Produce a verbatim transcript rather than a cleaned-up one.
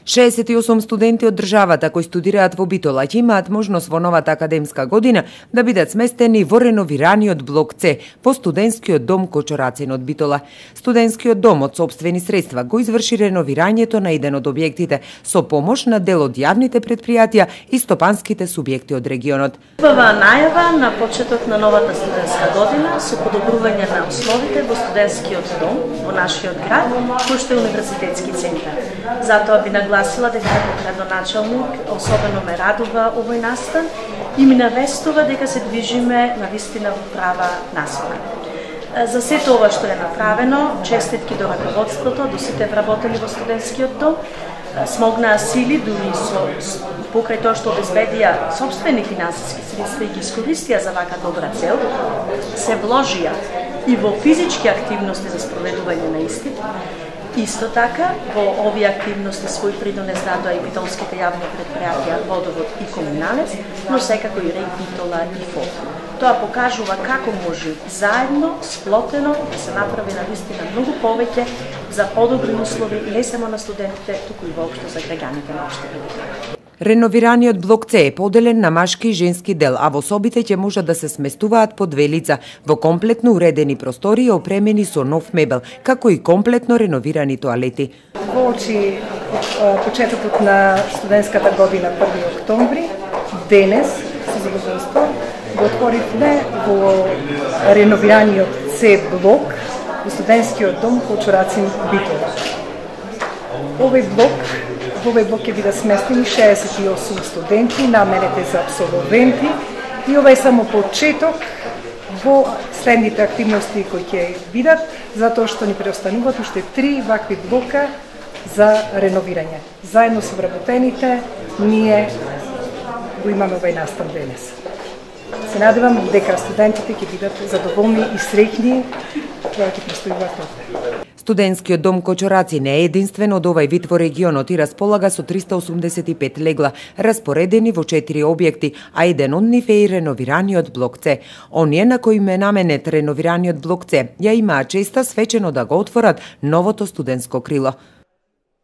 шеесет и осум студенти од државата кои студираат во Битола ќе имаат можност во новата академска година да бидат сместени во реновираниот блок С по студентскиот дом Кочорацин од Битола. Студентскиот дом од сопствени средства го изврши реновирањето на еден од објектите со помош на дел од јавните предпријатија и стопанските субјекти од регионот. Убава најава на почеток на новата студентска година со подобрување на условите во студентскиот дом во нашиот град, кој што е универзитетски центар. Затоа би нагласила дека како градоначалник особено ме радува овој настан и ми навестува дека се движиме навистина во права насока. За сето ова што е направено, честитки до раководството, до сите вработени во студентскиот дом, смогнаа сили, дури со покрај тоа што обезбедија сопствени финансиски средства и ги искористија за вака добра цел, се вложија и во физички активности за спроведување на истите. Исто така, во овие активности свој придонес дадоа и битолските јавни предпријатија Водовод и Комуналец, но секако и РЕК Битола и ФОП. Тоа покажува како може заедно, сплотено, да се направи навистина многу повеќе за подобри услови не само на студентите, туку и воопшто за граѓаните на општината. Реновираниот блок С е поделен на машки и женски дел, а во собите ќе можат да се сместуваат по две лица во комплетно уредени простории опремени со нов мебел, како и комплетно реновирани тоалети. Воочи почетокот на студентската година први октомври, денес со задоволство го отворивме во реновираниот С блок во студентскиот дом Кочорацин Битола. Овој блок Во овој блок ќе бидат сместени шеесет и осум студенти, наменети за апсолвенти, и ова е само почеток во следните активности кои ќе бидат, затоа што ни преостануваат уште три вакви блока за реновирање. Заедно со вработените, ние го имаме овај настан денес. Се надевам дека студентите ќе бидат задоволни и среќни кога ќе престојуваат овде. Студентскиот дом Кочорацин е единствен од овај вид во регионот и располага со триста осумдесет и пет легла, распоредени во четири објекти, а еден од нив е и реновираниот блок С. Оние на кои ме наменет реновираниот блок С ја имаа честа свечено да го отворат новото студентско крило.